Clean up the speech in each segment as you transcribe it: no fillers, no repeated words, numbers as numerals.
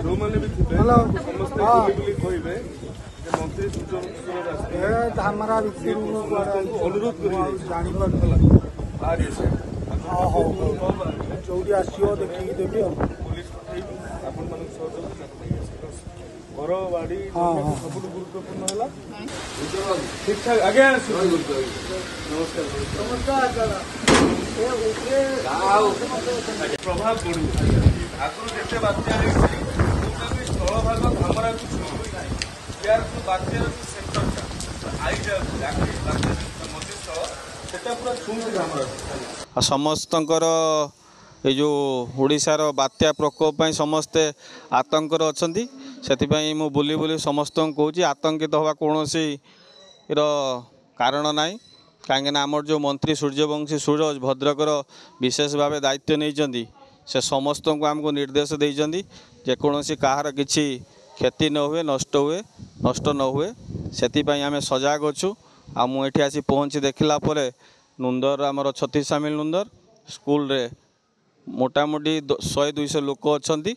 ଯେଉଁମାନେ ବି ଥିବେ ସମସ୍ତେ ବୁଲି ବୁଲି କହିବେ ଯେ ମନ୍ତ୍ରୀ ଧାମରା ଭିତରୁ ଅନୁରୋଧ କରି ଜାଣିପାରୁଥିଲା। ବାହାରି ଆସିବେ। ହଉ, ଯୋଉଠି ଆସିବ ଦେଖିକି ଦେବି। ଆଉ ପୋଲିସ ପଠେଇବି ଆପଣମାନଙ୍କ ସହଯୋଗ। ଘର ବାଡି ସବୁଠୁ ଗୁରୁତ୍ୱପୂର୍ଣ୍ଣ ହେଲା। ଠିକ ଠାକ ଆଜ୍ଞା, ନମସ୍କାର। ନମସ୍କାର। ପ୍ରଭାବ ପଡିବ। ଆଗରୁ ଯେତେ ବାତ୍ୟା ହେଇଛି, ଯୋଉଟା ବି ସ୍ଥଳଭାଗ ଧାମରାକୁ ଛୁଉଁଛି ନାହିଁ, ଏହାର ଯୋଉ ବାତ୍ୟାର ଯୋଉ ସେଣ୍ଟରଟା ଆଇଯାଉଛି, ବାତ୍ୟା ମଧ୍ୟସ୍ଥଳ, ସେଟା ପୁରା ଛୁଉଁଛି ଧାମରାକୁ। ଆଉ ସମସ୍ତଙ୍କର ଏଇ ଯେଉଁ ଓଡ଼ିଶାର ବାତ୍ୟା ପ୍ରକୋପ ପାଇଁ ସମସ୍ତେ ଆତଙ୍କରେ ଅଛନ୍ତି। ସେଥିପାଇଁ ମୁଁ ବୁଲି ବୁଲି ସମସ୍ତଙ୍କୁ କହୁଛି, ଆତଙ୍କିତ ହେବା କୌଣସିର କାରଣ ନାହିଁ, କାହିଁକିନା ଆମର ଯେଉଁ ମନ୍ତ୍ରୀ ସୂର୍ଯ୍ୟବଂଶୀ ସୂରଜ ଭଦ୍ରକର ବିଶେଷ ଭାବେ ଦାୟିତ୍ୱ ନେଇଛନ୍ତି, ସେ ସମସ୍ତଙ୍କୁ ଆମକୁ ନିର୍ଦ୍ଦେଶ ଦେଇଛନ୍ତି ଯେକୌଣସି କାହାର କିଛି କ୍ଷତି ନ ହୁଏ, ନଷ୍ଟ ନ ହୁଏ, ସେଥିପାଇଁ ଆମେ ସଜାଗ ଅଛୁ। ଆଉ ମୁଁ ଏଠି ଆସି ପହଞ୍ଚି ଦେଖିଲା ପରେ ନୁନ୍ଦର, ଆମର ଛତିଶାମିଲ ନୁନ୍ଦର ସ୍କୁଲରେ ମୋଟାମୋଟି 100 200 ଲୋକ ଅଛନ୍ତି।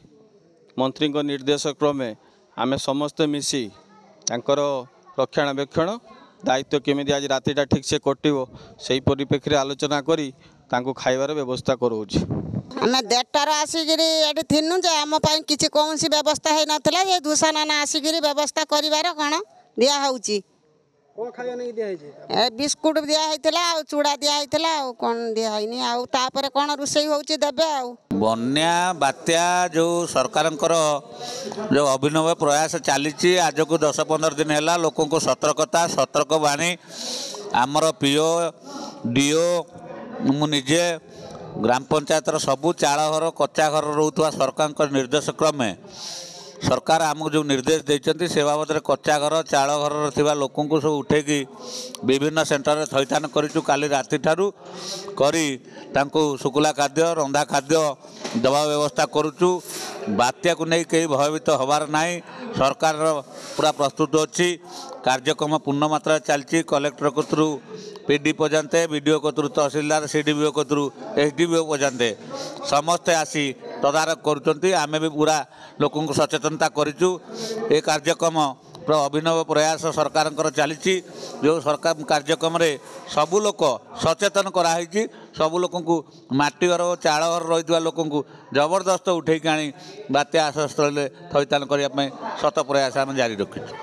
ମନ୍ତ୍ରୀଙ୍କ ନିର୍ଦ୍ଦେଶ କ୍ରମେ ଆମେ ସମସ୍ତେ ମିଶି ତାଙ୍କର ରକ୍ଷଣାବେକ୍ଷଣ ଦାୟିତ୍ୱ କେମିତି ଆଜି ରାତିଟା ଠିକ୍ସେ କଟିବ, ସେଇ ପରିପ୍ରେକ୍ଷୀରେ ଆଲୋଚନା କରି ତାଙ୍କୁ ଖାଇବାର ବ୍ୟବସ୍ଥା କରାଉଛି। ଆମେ 1:30ଟାରୁ ଆସିକିରି ଏଠି ଥିନୁ ଯେ ଆମ ପାଇଁ କିଛି କୌଣସି ବ୍ୟବସ୍ଥା ହେଇନଥିଲା। ଯେ ଧୂଷାନାନା ଆସିକିରି ବ୍ୟବସ୍ଥା କରିବାର କ'ଣ ଦିଆହେଉଛି। କ'ଣ ଖାଇବା ନେଇକି ଦିଆହେଇଛି? ଏ ବିସ୍କୁଟ ଦିଆ ହେଇଥିଲା ଆଉ ଚୁଡ଼ା ଦିଆ ହେଇଥିଲା, ଆଉ କ'ଣ ଦିଆ ହେଇନି। ଆଉ ତାପରେ କ'ଣ ରୋଷେଇ ହେଉଛି ଦେବେ। ଆଉ ବନ୍ୟା ବାତ୍ୟା ଯେଉଁ ସରକାରଙ୍କର ଯେଉଁ ଅଭିନବ ପ୍ରୟାସ ଚାଲିଛି ଆଜକୁ 10 15 ଦିନ ହେଲା, ଲୋକଙ୍କୁ ସତର୍କତା ସତର୍କ ବାଣୀ ଆମର ପିଓ, ଡିଓ, ମୁଁ ନିଜେ ଗ୍ରାମ ପଞ୍ଚାୟତର ସବୁ ଚାଳ ଘର, କଚ୍ଚା ଘର ରହୁଥିବା ସରକାରଙ୍କ ନିର୍ଦ୍ଦେଶ କ୍ରମେ ସରକାର ଆମକୁ ଯେଉଁ ନିର୍ଦ୍ଦେଶ ଦେଇଛନ୍ତି, ସେ ବାବଦରେ କଚ୍ଚା ଘର, ଚାଳ ଘରରେ ଥିବା ଲୋକଙ୍କୁ ସବୁ ଉଠେଇକି ବିଭିନ୍ନ ସେଣ୍ଟରରେ ଥଇଥାନ କରିଛୁ। କାଲି ରାତିଠାରୁ କରି ତାଙ୍କୁ ଶୁଖିଲା ଖାଦ୍ୟ, ରନ୍ଧା ଖାଦ୍ୟ ଦେବା ବ୍ୟବସ୍ଥା କରୁଛୁ। ବାତ୍ୟାକୁ ନେଇ କେହି ଭୟଭୀତ ହେବାର ନାହିଁ। ସରକାରର ପୁରା ପ୍ରସ୍ତୁତ ଅଛି, କାର୍ଯ୍ୟକ୍ରମ ପୂର୍ଣ୍ଣ ମାତ୍ରାରେ ଚାଲିଛି। କଲେକ୍ଟର କତରୁ ପି ଡି ପର୍ଯ୍ୟନ୍ତ, ବି ଡ଼ି ଓ କତରୁ ତହସିଲଦାର, ସି ଡି ବି ଓ କତରୁ ଏସ୍ ଡି ବି ଓ ପର୍ଯ୍ୟନ୍ତ ସମସ୍ତେ ଆସି ତଦାରଖ କରୁଛନ୍ତି। ଆମେ ବି ପୁରା ଲୋକଙ୍କୁ ସଚେତନତା କରିଛୁ। ଏ କାର୍ଯ୍ୟକ୍ରମ ପୁରା ଅଭିନବ ପ୍ରୟାସ ସରକାରଙ୍କର ଚାଲିଛି, ଯେଉଁ ସରକାର କାର୍ଯ୍ୟକ୍ରମରେ ସବୁ ଲୋକ ସଚେତନ କରାହେଇଛି। ସବୁ ଲୋକଙ୍କୁ, ମାଟି ଘର ଓ ଚାଳ ଘର ରହିଥିବା ଲୋକଙ୍କୁ ଜବରଦସ୍ତ ଉଠେଇକି ଆଣି ବାତ୍ୟା ଆଶ୍ରୟସ୍ଥଳୀରେ ଥଇଥାନ କରିବା ପାଇଁ ଶତ ପ୍ରୟାସ ଆମେ ଜାରି ରଖିଛୁ।